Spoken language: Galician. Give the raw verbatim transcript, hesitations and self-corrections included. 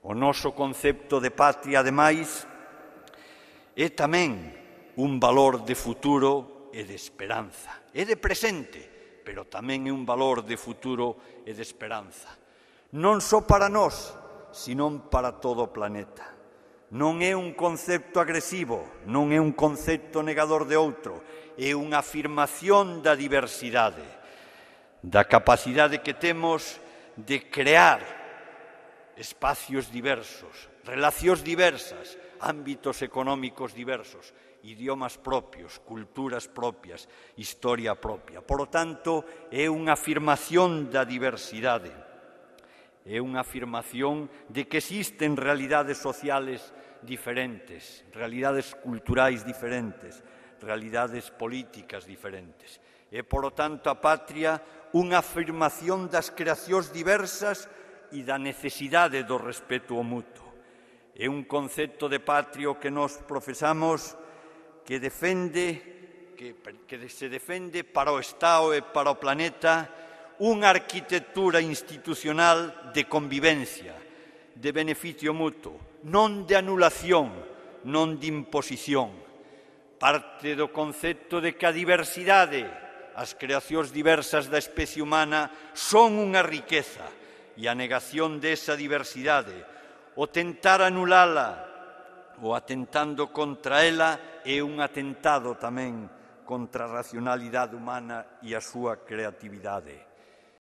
O noso concepto de patria, ademais, é tamén un valor de futuro e de esperanza. É de presente, pero tamén é un valor de futuro e de esperanza. Non só para nós, senón para todo o planeta. Non é un concepto agresivo, non é un concepto negador de outro, é unha afirmación da diversidade, da capacidade que temos de crear espacios diversos, relacións diversas, ámbitos económicos diversos, idiomas propios, culturas propias, historia propia. Por lo tanto, é unha afirmación da diversidade, é unha afirmación de que existen realidades sociales diferentes, realidades culturais diferentes, realidades políticas diferentes. É, por lo tanto, a patria unha afirmación das creacións diversas e da necesidade do respeto ao mutuo. É un concepto de patria que nos profesamos que defende, que, que se defende para o Estado e para o planeta unha arquitectura institucional de convivencia, de beneficio mutuo, non de anulación, non de imposición. Parte do concepto de que a diversidade, as creacións diversas da especie humana son unha riqueza, e a negación desa diversidade, o tentar anulala, ou atentando contra ela, é un atentado tamén contra a racionalidade humana e a súa creatividade.